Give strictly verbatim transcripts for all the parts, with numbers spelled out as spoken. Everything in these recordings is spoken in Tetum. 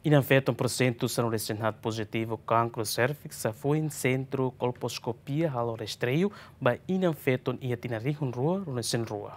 Inan-feton pursentu sanulu-resin-haat pozitivu kankru serviks hafoin sentru kolposkopia halo rastreiu ba inan-feton iha tinan rihun rua ruanulu-resin-rua.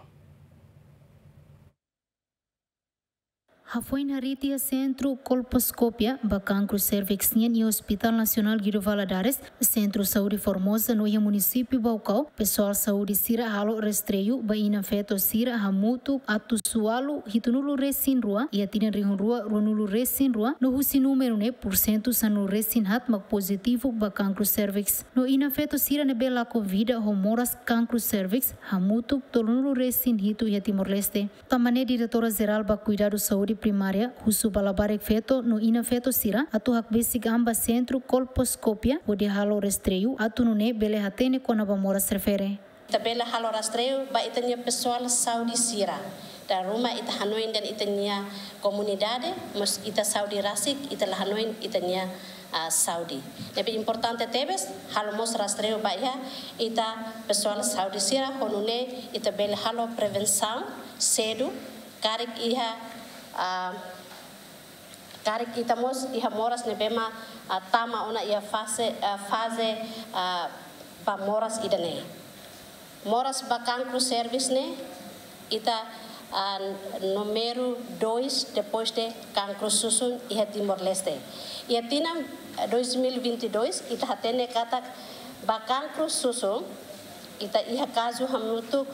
Hafoin harii tiha sentru kolposkopia ba kankru serviks nian iha Hospital Nasionál Guido Valadares, Sentru Saúde Formosa no iha munisípiu Baucau, pesoál saúde sira halo rastreiu ba inan-feto sira hamutuk atus ualu hitunulu-resin-rua iha tinan rihun rua ruanulu-resin-rua, no husi númeru ne'e pursentu sanulu-resin-haat mak pozitivu ba kankru serviks. No inan-feto sira ne'ebé lakon vida ho moras kankru serviks hamutuk tolunulu-resin-hitu iha Timor-Leste. Tanba ne'e Diretora Jerál ba Kuidadu Saúde Primária husu ba labarik feto no inan-feto sira atu hakbesik an ba sentru kolposkopia hodi halo rastreiu atu nune'e bele hatene kona-ba moras refere. Ita bele halo rastreiu ba ita-nia pesoál saúde sira. Dala ruma ita hanoin dehan ita-nia komunidade, mas ita saúde rasik, ita la hanoin ita-nia, ah, saúde. Ne'ebé importante tebes, halo mós rastreiu ba iha ita pesoál saúde sira, ho nune'e ita bele halo prevensaun sedu, karik iha, ah, karik ita mós iha moras ne'ebé mak, ah, tama ona iha faze, ah, faze, ah, ba moras ida-ne'e. Moras ba kankru serviks ne'e, ita, ah, númeru dois depois de kankru susun iha Timor-Leste. Iha tinan, ah, dois mil e vinte e dois, ita hatene katak ba kankru susun, ita iha kazu hamutuk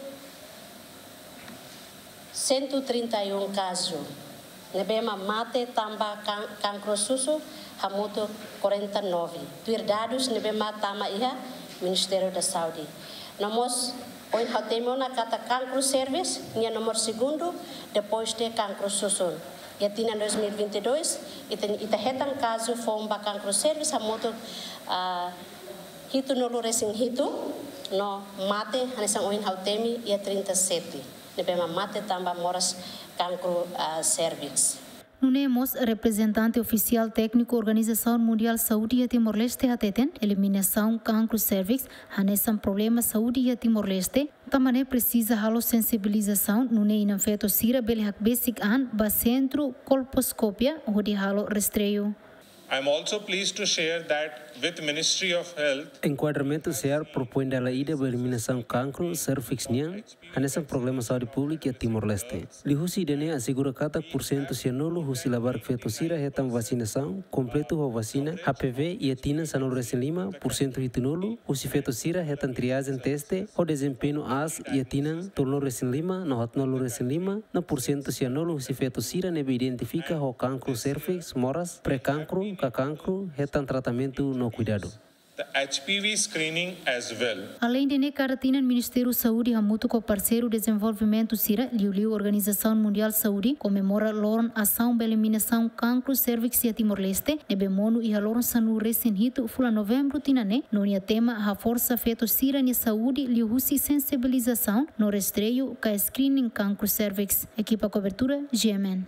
cento e trinta e um kazu. Ne'ebé mak mate tanba kan-, kankru susun hamutuk quarenta e nove. Tuir dadus ne'ebé mak tama iha Ministériu da Saúde. No mós, ohin ha'u temi ona katak kankru serviks, nia nomor segundu, depois de kankru susun. Iha tinan dois mil e vinte e dois, ita, ita hetan kazu foun ba kankru serviks hamutuk, ah, hitunulu-resin-hitu, no mate, hanesan ohin ha'u temi, iha trinta e sete. Ne'ebé mak mate tanba moras kankru, ah, serviks. Nune'e mós reprezentante ofisiál tékniku Organizasaun Mundiál Saúde iha Timor-Leste hateten, eliminasaun kankru serviks hanesan problema saúde iha Timor-Leste, tanba ne'e presiza halo sensibilizasaun, nune'e inan-feto sira bele hakbesik an ba sentru kolposkopia hodi halo rastreiu. I'm also pleased to share that with Ministry of Health, enkuadramentu SEAR propoin dala ida ba eliminasaun kankru serviks nian, hanesan problema saúde públika iha Timor-Leste. Liuhusi ida-ne'e asegura katak pursentu sianulu husi labarik feto sira hetan vasinasaun kompletu ho vasina H P V iha tinan sanulu-resin-lima, pursentu hitunulu husi feto sira hetan triajen teste ho dezempeñu aas iha tinan tolunulu-resin-lima no haatnulu-resin-lima, no pursentu sianulu husi feto sira ne'ebé identifika ho kankru serviks, moras, pré-kankru, ka kankru, hetan tratamentu no kuidadu. The H P V screening as well. Aleinde ne'e, kada tinan Ministériu Saúde hamutuk ho parseiru dezenvolvimentu sira, liuliu Organizasaun Mundiál Saúde, komemora loron asaun ba eliminasaun kankru serviks iha Timor-Leste, ne'ebé monu iha loron sanulu-resin-hitu fulan Novembru tinan ne'e, no nia tema haforsa feto sira-nia saúde liuhusi sensibilizasaun no rastreiu ka screening kankru serviks. Ekipa kobertura, G M N.